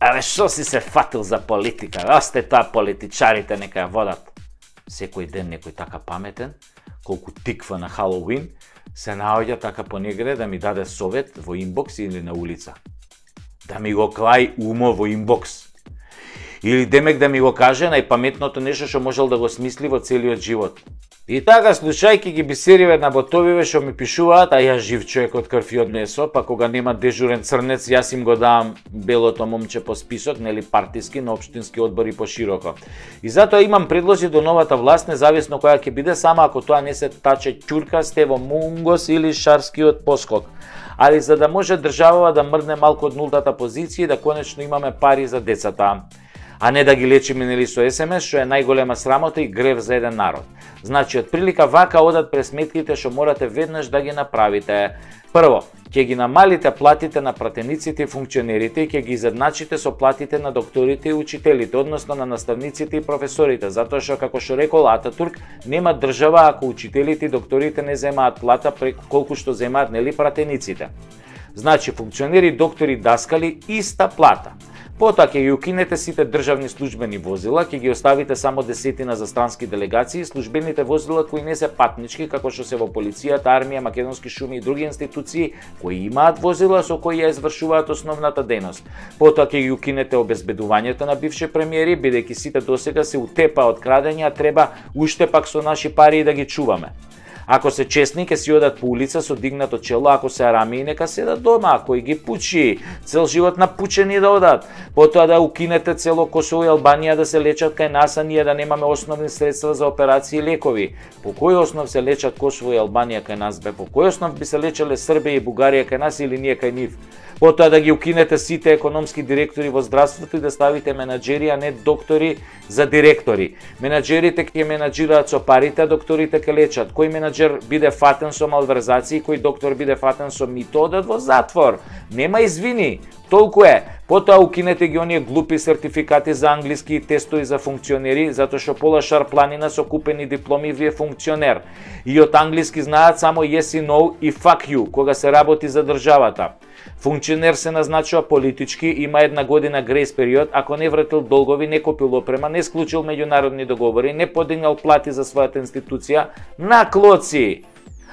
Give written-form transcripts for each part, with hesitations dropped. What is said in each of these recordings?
Абе, шо си се фатил за политика? Осте тоа политичарите нека ја водат. Секој ден некој така паметен, колку тиква на Халоуин, се наоѓа така понегде да ми даде совет во инбокс или на улица. Да ми го клај умо во инбокс. Или демек да ми го каже најпаметното нешто што можел да го смисли во целиот живот. И така, слушајќи ги бисериве на ботовиве што ми пишуваат, а јас жив човек од крв и од месо, па кога нема дежурен црнец, јас им го давам белото момче по список, нели партиски, на општински одбори пошироко. И затоа имам предлози до новата власт, независно која ќе биде, само ако тоа не се таче ќурка, Стево Мунгос или шарскиот поскок. Али за да може државава да мрдне малку од нултата позиција и да конечно имаме пари за децата, а не да ги лечиме нели со СМС, што е најголема срамота и грев за еден народ. Значи, од прилика вака одат пресметките што морате веднаш да ги направите. Прво, ќе ги намалите платите на пратениците и функционерите и ќе ги изедначите со платите на докторите и учителите, односно на наставниците и професорите, затоа што, како што рекол Ататурк, нема држава ако учителите и докторите не земаат плата преку колку што земаат нели пратениците. Значи, функционери, доктори, даскали, иста плата. Потоа ќе ги укинете сите државни службени возила, ќе ги оставите само десетина за странски делегации и службените возила кои не се патнички, како што се во полицијата, армија, македонски шуми и други институции кои имаат возила со кои ја извршуваат основната дејност. Потоа ќе ги укинете обезбедувањето на бивши премиери, бидејќи сите досега се утепа од крадење, а треба уште пак со наши пари да ги чуваме. Ако се честни, ќе си одат по улица со дигнато чело, ако се арами, нека седат дома, кој ги пучи, цел живот напучени да одат. Потоа да укинете цело Косово и Албанија да се лечат кај нас, а ние да немаме основни средства за операции и лекови. По кој основ се лечат Косово и Албанија кај нас, бе? По кој основ би се лечеле Србија и Бугарија кај нас или ние кај нив? Потоа да ги укинете сите економски директори во здравството и да ставите менаџери, а не доктори за директори. Менаџерите ќе менаџираат со парите, а докторите ќе лечат. Кој менаџер биде фатен со малверзации, кој доктор биде фатен со мито, одат во затвор. Нема извини. Толку е. Потоа укинете ги оние глупи сертификати за англиски и тестови за функционери, затоа што пола шарпланина со купени дипломи ви е функционер. И од англиски знаат само yes и no и fuck you, кога се работи за државата. Функционер се назначува политички, има една година грейс период, ако не вратил долгови, не купил опрема, не склучил меѓународни договори, не подигнал плати за својата институција, на клоци.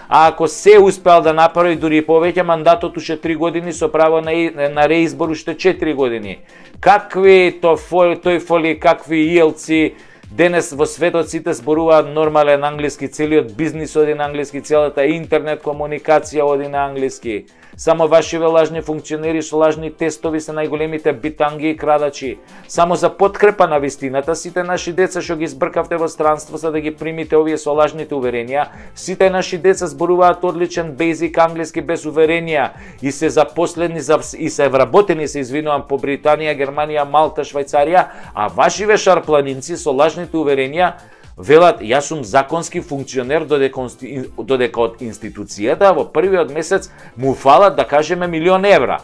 А ако се успеал да направи дури и повеќе, мандатот уште 3 години со право на реизбор уште 4 години. Какви тојфоли, какви иелци, денес во светот сите зборуваат нормален англиски, целиот бизнис оди на англиски, целата интернет комуникација оди на англиски. Само вашиве лажни функционери со лажни тестови се најголемите битанги и крадачи. Само за подкрепа на вистината, сите наши деца што ги збркавте во странство за да ги примите овие со лажните уверенија, сите наши деца зборуваат одличен бейзик англиски без уверенија и се запослени и се вработени, се извинувам, по Британија, Германија, Малта, Швајцарија, а вашиве шарпланинци со лажните уверенија велат, јас сум законски функционер додека од институцијата во првиот месец му фалат, да кажеме, 1.000.000 евра.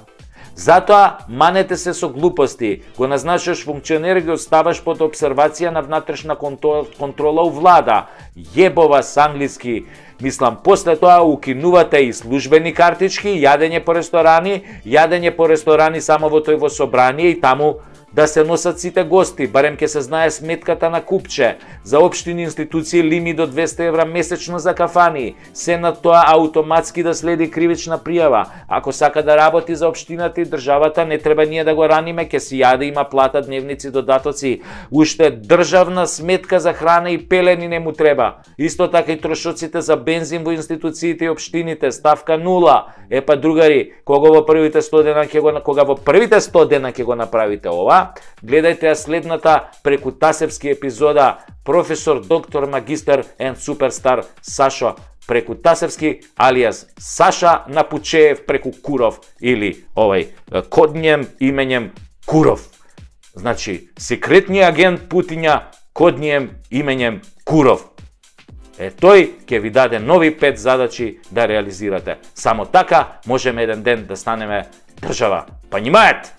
Затоа манете се со глупости, го назначаш функционер, ги оставаш под обсервација на внатрешна контрола у влада. Јебова с англиски. Мислам, после тоа укинувате и службени картички, јадење по ресторани само во тој во собрание и таму да се носат сите гости, барем ќе се знае сметката на купче. За општини институции лимит до 200 евра месечно за кафани. Се на тоа автоматски да следи кривична пријава. Ако сака да работи за општината и државата, не треба ние да го раниме, ќе си јаде, има плата, дневници, додатоци. Уште државна сметка за храна и пелени не му треба. Исто така и трошоците за бензин во институциите и општините, ставка 0. Епа другари, кога во првите 100 дена ќе го направите ова, гледајте ја следната преку Тасевски епизода професор, доктор, магистар and суперстар Сашо преку Тасевски, алијас Саша Напучеев преку Куров или кодњем именем Куров. Значи, секретниот агент Путиња, коднием именем Куров. Тој ќе ви даде нови 5 задачи да реализирате. Само така можеме еден ден да станеме држава. Понимаете?